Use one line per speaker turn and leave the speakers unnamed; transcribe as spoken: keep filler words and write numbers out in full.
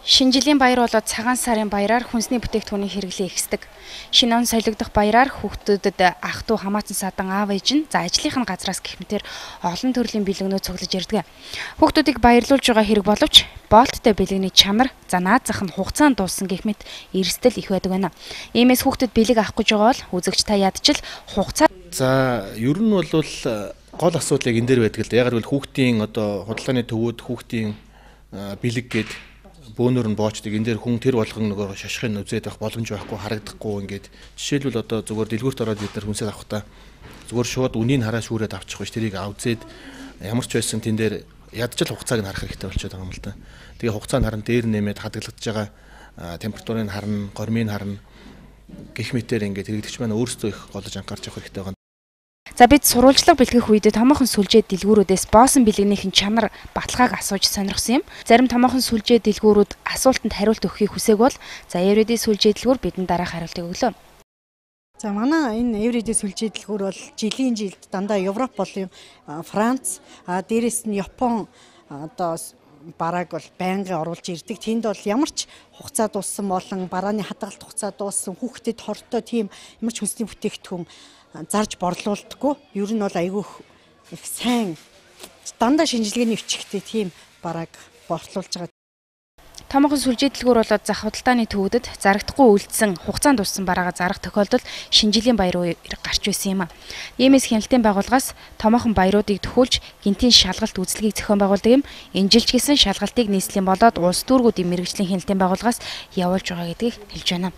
Шинэ жилийн баяр болоод цагаан сарын баяраар хүнсний бүтээгдэхүүний хэрэглээ ихсдэг. Шинэ он солигдох баяраар хүүхдүүдэд ах дүү хамаатан садан аав ээж нь за ажлынхын газраас гэх мэтээр олон төрлийн бэлгэнүүд цуглаж ирдэг. Хүүхдүүдийг баярлуулж байгаа хэрэг боловч болттой бэлгэний чанар за наад зах нь хугацаанд дууссан гэх мэт эрсдэл их байдаг байна. Иймээс хүүхдэд бэлэг авах гэж байгаа бол үзэгч та ядчил хугацаа.
За ер нь бол гол асуудал яг энэ дээр байдаг л да. Яг л хүүхдийн одоо худалдааны төвүүд хүүхдийн бэлэг гээд бөөнөр нь боочдөг. Энэ дээр хүн тэр болгон нөгөө шашхын үзээд байх боломж байхгүй, харагдахгүй ингээд жишээлбэл одоо зүгээр дэлгүүрт ороод бид нар хүнсээ авахдаа зүгээр шууд үнийн хараа шүүрээд авчих биш, тэрийг авзээд ямар ч байсан тэн дээр ядчил хугацааг нь харах хэрэгтэй болчиход байгаа юм л да. Тэгээ хугацаанд харан дээр нэмээд хадгалагдж байгаа температурыг харна, гормыг харна гэх мэтээр ингээд хэрэглэгч маань өөрсдөө их голж анхаарч явах хэрэгтэй байгаа.
За бид сурвалжлага бэлтгэх үед томоохон сүлжээ дэлгүүрүүдээс боосон бэлгэнийхэн чанар баталгааг асууж сонирхсон юм. Зарим томоохон сүлжээ дэлгүүрүүд асуултанд хариулт өгөхийг хүсээг бол за Everyday сүлжээ дэлгүүр бидэнд дараах хариултыг өглөө.
За манай энэ Everyday сүлжээ дэлгүүр бол жилийн жилд дандаа Европ болон Франц, а дээрэс нь Япон одоо барааг бол байнгын оруулж ирдэг. Тэнд бол ямар ч хугацаа дууссан болон барааны хадгалт хугацаа дууссан хүүхдэд хортой тийм ямар ч хүнсний бүтээгдэхүүн зарж борлуулдаггүй. Ер нь бол айгүй их сайн дандаа шинжилгээний өчгтэй тийм барааг борлуулж байгаа.
Томоохон сүлжээ дэлгүүр болоод зах худалдааны төвүүдэд зарагдахгүй үлдсэн хугацаанд дууссан бараагаа зарах тохиолдолд шинэ жилийн баяр гарч байсан юм а. Иймээс хяналтын байгууллагаас томоохон баяруудыг төхүүлж гинтийн шалгалт үзлэгийг зохион байгуулдаг юм. Энэ жилч гэсэн шалгалтыг нийслэлийн болоод улс дүүргүүдийн мэргэжлийн хяналтын байгууллагаас явуулж байгаа гэдгийг хэлж байна.